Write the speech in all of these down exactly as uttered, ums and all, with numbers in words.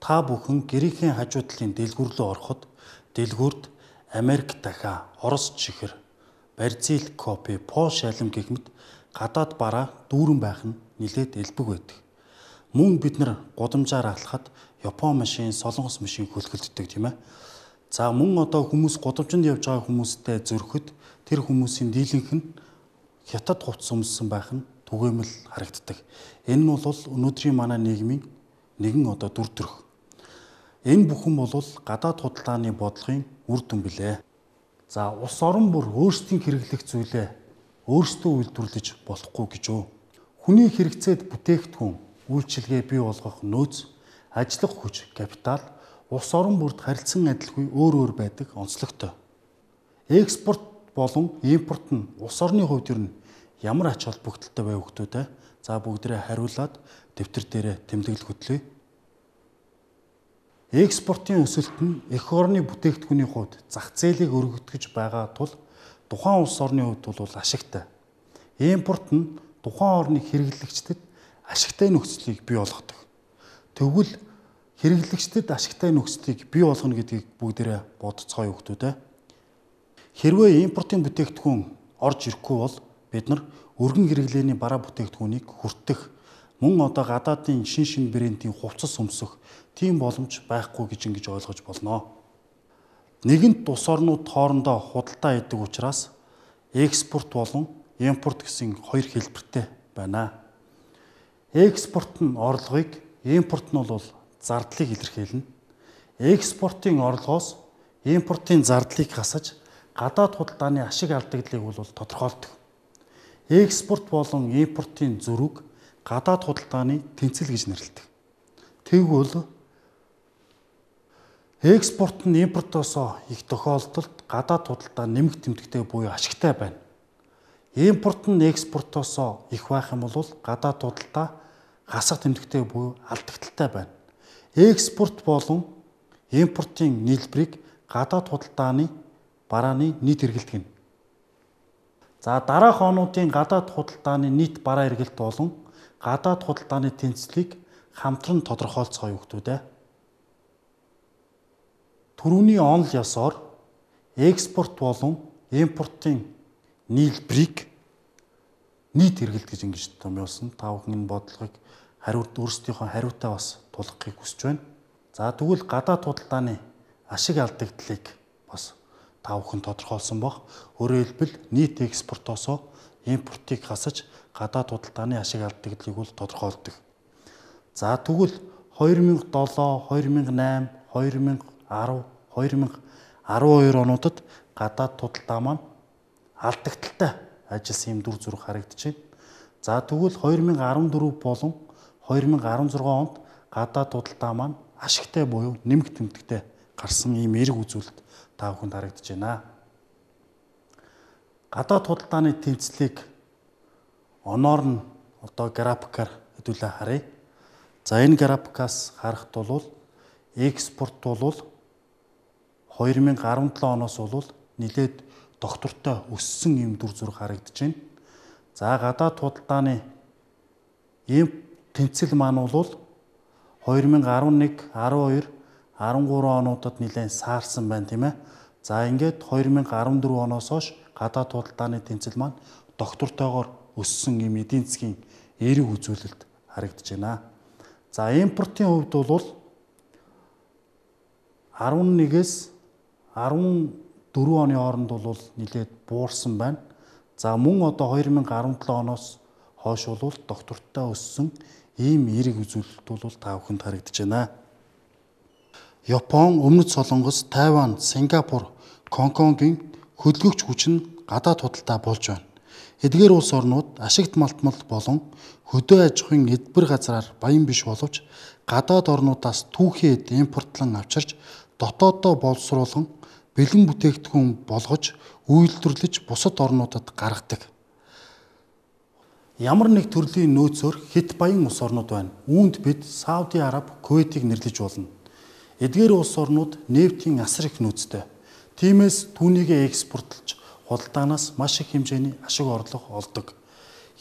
та бүхэн гэрээхийн хажуу талын дэлгүүр рүү ороход дэлгүүрт Америк дахиа, Орос чихэр, Бразил копи, Пол шалим гэгмэд гадаад бараа дүүрэн байх нь нилээд элбэг байдаг. Мөн бид нар гудамжаар алхахад Япон машин, Солонгос машин хөлгөлддөг тийм ээ. За мөн одоо хүмүүс гудамжинд явж байгаа хүмүүстэй зөрөхөд тэр хүмүүсийн дийлэнх нь хятад хувцас өмссөн байх нь түгээмэл харагддаг. Энэ нь бол өнөөдрийн манай нийгмийн нэгэн одоо дүр төрх. Энэ бүхэн бол гадаад худалдааны бодлогын үр дүн билээ. За улс орон бүр өөрсдийн хэрэглэх зүйлээ өөрсдөө үйлдвэрлэж болохгүй гэж үү. Хүний хэрэгцээд бүтээгдэхүүн, үйлчилгээ бий болгох нөөц, ажиллах хүч, капитал улс орон бүрд харилцан адилгүй өөр өөр байдаг онцлогтой. Экспорт болон импорт нь улс орны хувьд ер нь ямар ач холбогдолтой байв хүмүүстээ? За бүгдээ хариулаад дэвтэр дээрээ тэмдэглэл хөтлөе. Экспортын өсөлт нь эх орны бүтээгдэхүүний хувьд зах зээлийг өргөдгөж байгаа тул тухайн улс орны хувьд бол ашигтай. Импорт нь тухайн орны хэрэглэгчдэд ашигтай нөхцөлийг бий болгодог. Тэгвэл хэрэглэгчдэд ашигтай нөхцөлийг бий болгоно гэдгийг бүгдээрээ бодцгоё хүмүүстээ. Хэрвээ импортын бүтээгдэхүүн орж ирэхгүй бол бид нар өргөн хэрэглээний бараа бүтээгдэхүүнийг хүртэх, мөн одоо гадаадын шин шин брендийн хувцас өмсөх тийм боломж байхгүй гэж ингэж ойлгож болно. Нэгэнт улс орнууд хоорондоо худалдаа хийдэг учраас экспорт болон импорт гэсэн хоёр хэлбэртэй байна. Экспорт нь орлогыг, импорт нь бол зардлыг илэрхийлнэ. Экспортын орлогоос импортын зардлыг хасаж гадаад худалдааны ашиг алдагдлыг бол тодорхойлдог. Экспорт болон импортын зөрүүг гадаад худалдааны тэнцэл гэж нэрлэдэг. Тэгвэл экспорт нь импортоос их тохиолдолд гадаад худалдаа нэмэх тэмдэгтэй буюу ашигтай байна. Импорт нь экспортоос их байх юм бол гадаад худалдаа хасах тэмдэгтэй буюу алдагдaltaй байна. Экспорт болон импортын нийлбэрийг гадаад худалдааны барааны нийт эргэлт гэнэ. За дараах онуудын гадаад худалдааны нийт бараа эргэлт болон гадаад худалдааны тэнцлийг хамтран тодорхойлцгоё хүмүүстээ. Төрөүний онол ёсоор экспорт болон импортын нийлбэрийг нийт эргэлт гэж ингэж томьёолсон. Та бүхэн энэ бодлогыг хариуд өөрсдийнхөө хариутай бас тулгахыг хүсэж байна. За тэгвэл гадаад худалдааны ашиг алдагдлыг бас та бүхэн тодорхойлсон баг. Өөрөөр хэлбэл нийт экспортоос импортыг хасаж гадаад худалдааны ашиг алдагдлыг бол тодорхойлдог. За тэгвэл хоёр мянга долоо, хоёр мянга найм, хоёр мянга арав, хоёр мянга арван хоёр онуудад гадаад худалдаа маань алдагдaltaй ажилласан юм дүр зураг харагдаж байна. За тэгвэл хоёр мянга арван дөрөв болон хоёр мянга арван зургаан онд гадаад худалдаа маань ашигтай буюу нэмэх тэмдэгтэй гарсан ийм эрг үзүүлэлт та бүхэнд харагдаж байна. Гадаад худалдааны тэнцлийг оноор нь одоо графикаар хэдүүлээ харъя. За энэ графикаас харахад бол экспорт бол хоёр мянга арван долоо оноос бол нэлээд доктортой өссөн юм дүр зураг харагдаж байна. За гадаад худалдааны ийм тэнцэл маань бол хоёр мянга арван нэг, арван хоёр, арван гурван онуудад нэлээд саарсан байна тийм ээ. За ингээд хоёр мянга арван дөрөв оноос хойш гадаад худалдааны тэнцэл маань доктортойгоор өссөн юм эдийн засгийн эерэг үзүүлэлт харагдаж байна. За импортын хувьд бол арван нэгээс арван дөрөв оны хооронд бол нэлээд буурсан байна. За мөн одоо хоёр мянга арван долоо оноос хойш бол доктортой өссөн ийм эерэг үзүүлэлт бол та бүхэнд харагдаж байна. Япон, Өмнөд Солонгос, Тайван, Сингапур, Гонконгийн хөдөлгөгч хүч нь гадаад худалдаа болж байна. Эдгээр улс орнууд ашигт малтмал болон хөдөө аж ахуйн эдбэр газраар баян биш боловч гадаад орнуудаас түүхийд импортлон авчирч дотооддоо боловсруулан бэлэн бүтээгдэхүүн болгож үйлдвэрлэж бусад орнуудад гаргадаг. Ямар нэг төрлийн нөөцөөр хэд баян улс орнууд байна. Үүнд бид Сауди Араб, Кувейтийг нэрлэж болно. Эдгээр улс орнууд нефтийн асар их нөөцтэй. Тиймээс түүнийгээ экспортлж худалдаанаас маш их хэмжээний ашиг орлого олдог.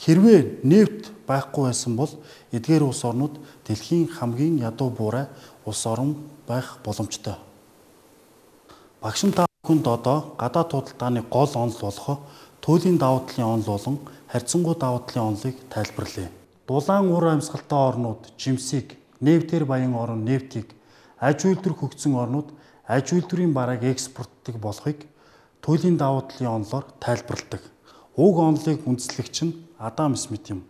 Хэрвээ нефт байхгүй байсан бол эдгээр улс орнууд дэлхийн хамгийн ядуу буурай улс орн байх боломжтой. Багш та бүхэнд одоо гадаад худалдааны гол онол болох туйлын давуу талын онол болон харьцангуй давуу талын онолыг тайлбарлая. Дулаан ур амьсгалтай орнууд жимсийг, нефтээр баян орн нефтийг, аж үйлдвэр хөгжсөн орнууд аж үйлдвэрийн барааг экспортдог болохыг туйлын давуу талын онолоор тайлбарладаг. Уг онолыг үндэслэгч нь Адам Смит юм.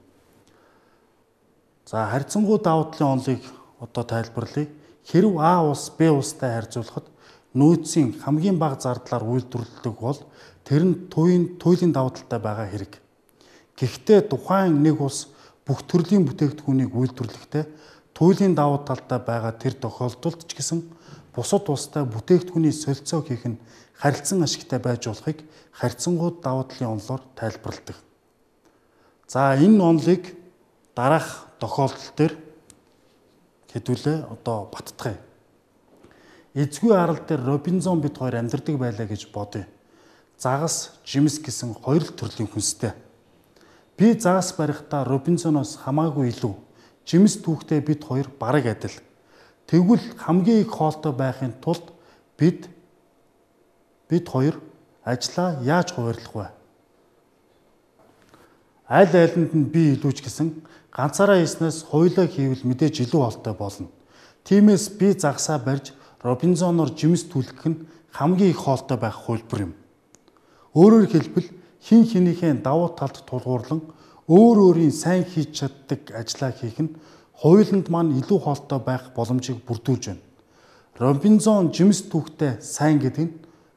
За харьцангуй давуу талын онолыг одоо тайлбарлая. Хэрв А улс Б улстай харьцуулахад нөөцийн хамгийн бага зардлаар үйлдвэрлэдэг бол тэр нь туйлын туйлын давуу талтай байгаа хэрэг. Гэхдээ тухайн нэг улс бүх төрлийн бүтээгдэхүүнийг үйлдвэрлэхдээ туйлын давуу талтай байгаа тэр тохиолдолд ч гэсэн бусад улстай бүтээгдэхүүний солилцоо хийх нь харилцан ашигтай байж болохыг харьцангуй давуу талын онолоор тайлбарладаг. За энэ онолыг дараах тохиолдол дээр хэдүүлээ одоо баттгая. Эзгүй арал дээр Робинзон бид хоёр амьдардаг байлаа гэж бодъё. Загас, жимс гэсэн хоёр л төрлийн хүнстэй. Би загас барихтаа Робинзоноос хамаагүй илүү. Жимс түүхтэй бид хоёр бараг адил. Тэгвэл хамгийн их хоолтой байхын тулд бид бид хоёр ажлаа яаж хуваарлах вэ? Аль айланд нь би илүүч гэсэн ганцаараа хийснээс хоёулаа хийвэл мэдээж илүү хоолтой болно. Тиймээс би загсаа барьж Робинзоноор жимс түлхэх нь хамгийн их хоолтой байх хөлбөр юм. Өөрөөр хэлбэл хин хинийхээ давуу талд тулгуурлан өөр өөрийн сайн хийж чаддаг ажлаа хийх нь хоёуланд маань илүү хоолтой байх боломжийг бүрдүүлж байна. Робинзон жимс түүхтэй сайн гэдэг нь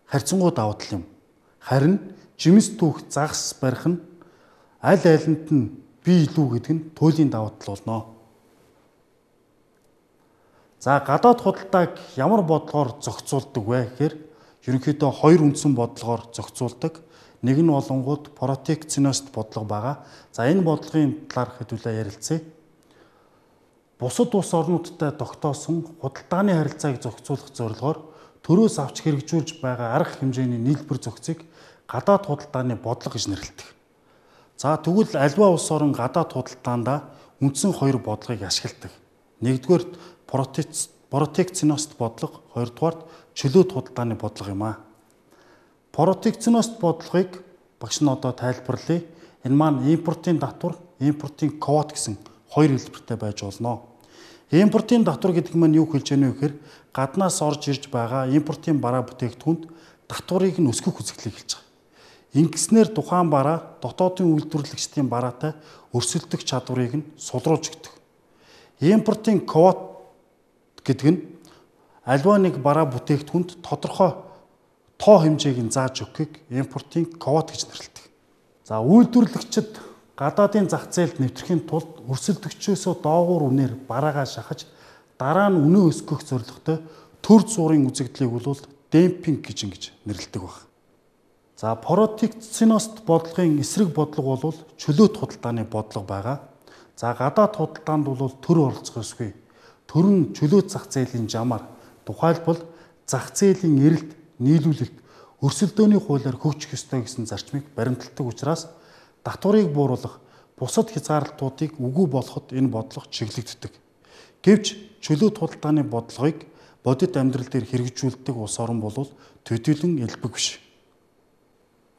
харьцангуй давуу тал юм. Харин жимс түүх загас барих нь аль айланд нь би илүү гэдэг нь туйлын давуу тал болно. За гадаад худалдааг ямар бодлогоор зохицуулдаг вэ гэхээр ерөнхийдөө хоёр үндсэн бодлогоор зохицуулдаг. Нэг нь болонгууд протекционист бодлого байгаа. За энэ бодлогын талаар хэдүүлээ ярилцъя. Бусад улс орнуудтай тогтоосон худалдааны харилцааг зохицуулах зорилгоор төрөөс авч хэрэгжүүлж байгаа арга хэмжээний нийлбэр зохицыг гадаад худалдааны бодлого гэж нэрлэдэг. За тэгвэл альва улс орн гадаад худалдаанд үндсэн хоёр бодлогыг ашигладаг. Нэгдүгээр протекционист бодлого, хоёрдугаарт чөлөөт худалдааны бодлого юм а. Протекционист бодлогыг багш нь одоо тайлбарлая. Энэ маань импортын татвар, импортын квот гэсэн хоёр хэлбэртэй байж болно. Импортын татвар гэдэг нь юу хэлж яана вэ гэхээр гаднаас орж ирж байгаа импортын бараа бүтээгдэхүүнд татварыг нь өсгөх үзэгдлийг хэлж байгаа. Ингэснээр тухайн бараа дотоодын үйлдвэрлэгчдийн бараатай өрсөлдөх чадварыг нь сулруулж өгдөг. Импортын квот гэдэг нь альва нэг бараа бүтээгдэхүүнд тодорхой тоо хэмжээг нь зааж өгөхийг импортын квот гэж нэрлэдэг. За үйлдвэрлэгчид гадаадын зах зээлд нэвтрэхийн тулд өрсөлдөгчөөсөө доогуур үнээр бараагаа шахаж дараа нь үнэ өсгөх зорилготой төр зуурын үзэгдлийг бол демпинг гэж ингэж нэрлэдэг баг. За протекционист бодлогын эсрэг бодлого бол чөлөөт худалдааны бодлого байгаа. За гадаад худалдаанд бол төр оролцох ёсгүй. Төр нь чөлөөт зах зээлийн жамаар тухайлбал зах зээлийн эрэлт, нийлүүлэлт, өрсөлдөөний хуулиар хөгжих ёстой гэсэн зарчмыг баримталдаг учраас татварыг бууруулах, бусад хязгаарлалтуудыг үгүй болгоход энэ бодлого чиглэгддэг. Гэвч чөлөөт худалдааны бодлогыг бодит амьдрал дээр хэрэгжүүлдэг улс орн бол төдийлөн элбэг биш.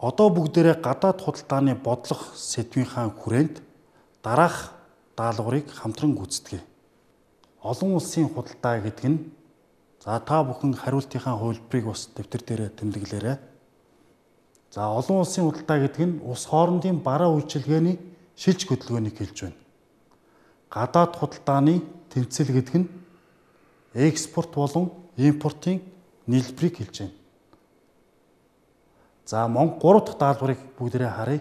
Одоо бүгдээрээ гадаад худалдааны бодлого сэдвийнхаа хүрээнд дараах даалгаврыг хамтран гүйцэтгэе. Олон улсын худалдаа гэдэг нь за та бүхэн хариултынхаа хувилбарыг бас дэвтэр дээр тэмдэглээрэй. За олон улсын худалдаа гэдэг нь улс хоорондын бараа үйлчилгээний шилж хөдөлгөөнийг хэлж байна. Гадаад худалдааны тэмцэл гэдэг нь экспорт болон импортын нийлбэрийг хэлж байна. За Монгол гурав дахь даалгаврыг бүгдээрээ харъя.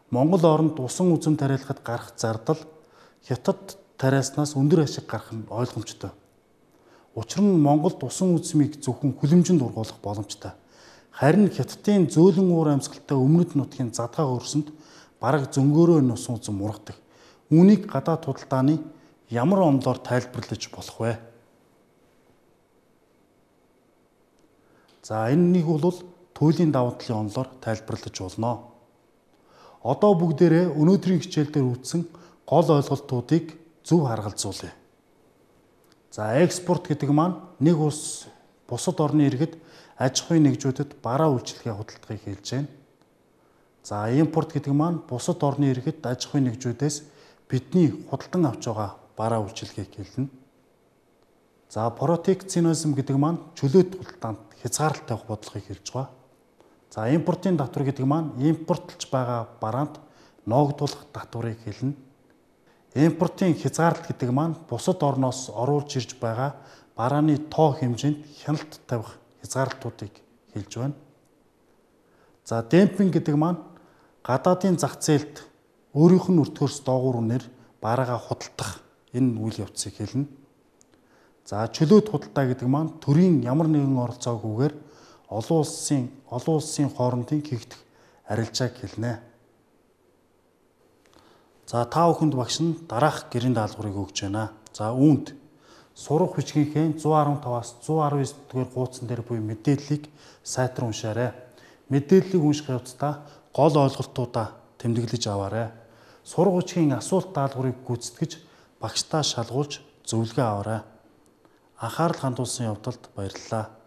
Монгол оронд усан үзэм тариалахад гарах зардал хятад тариаснаас өндөр ашиг гарах нь ойлгомжтой. Учир нь Монголд усан үзмийг зөвхөн хүлэмжинд ургуулах боломжтой. Харин хятадын зөөлөн уур амьсгалтай өмнөд нутгийн задгаа хөрсөнд бараг зөнгөөрөө энэ усан үзэм ургадаг. Үүнийг гадаад худалдааны ямар онолоор тайлбарлаж болох вэ? За энэ нэг бол туйлын давуу талын онолоор тайлбарлаж болно. Одоо бүгдээрээ өнөөдрийн хичээлдээр үүссэн гол ойлголтуудыг зөв харгалзуулъя. За экспорт гэдэг маань нэг улс бусад орны иргэд аж ахуйн нэгжүүдэд бараа үйлчилгээ худалдахыг хэлж байна. За импорт гэдэг маань бусад орны иргэд аж ахуйн нэгжүүдээс бидний худалдан авч байгаа бараа үйлчилгээг хэлнэ. За протекционизм гэдэг маань чөлөөт худалдаанд хязгаарлалт тавих бодлогыг хэлж байгаа. За импортын татвар гэдэг маань импортлж байгаа бараанд ноогдуулах татварыг хэлнэ. Импортын хязгаарлалт гэдэг маань бусад орноос оруулж ирж байгаа барааны тоо хэмжээнд хяналт тавих хязгаарлалтуудыг хэлж байна. За демпинг гэдэг маань гадаадын зах зээлд өөрийнх нь өртгөөс доогуур үнээр бараагаа худалдах энэ үйл явцыг хэлнэ. За чөлөөт худалдаа гэдэг маань төрийн ямар нэгэн оролцоогүйгээр олон улсын олон улсын хоорондын хийгдэх арилжааг хэлнэ. За та бүхэнд багш нь дараах гэрийн даалгаврыг өгч байна. За үүнд сурах бичгийнхээ зуун арван таваас зуун арван девять дугаар хуудсан дээр буй мэдээллийг сайтар уншаарай. Мэдээллийг унших явцдаа гол ойлголтуудаа тэмдэглэж аваарай. Сурах бичгийн асуулт даалгаврыг гүйцэтгэж багштаа шалгуулж зөвлөгөө аваарай. Анхаарал хандуулсан явдалд баярлалаа.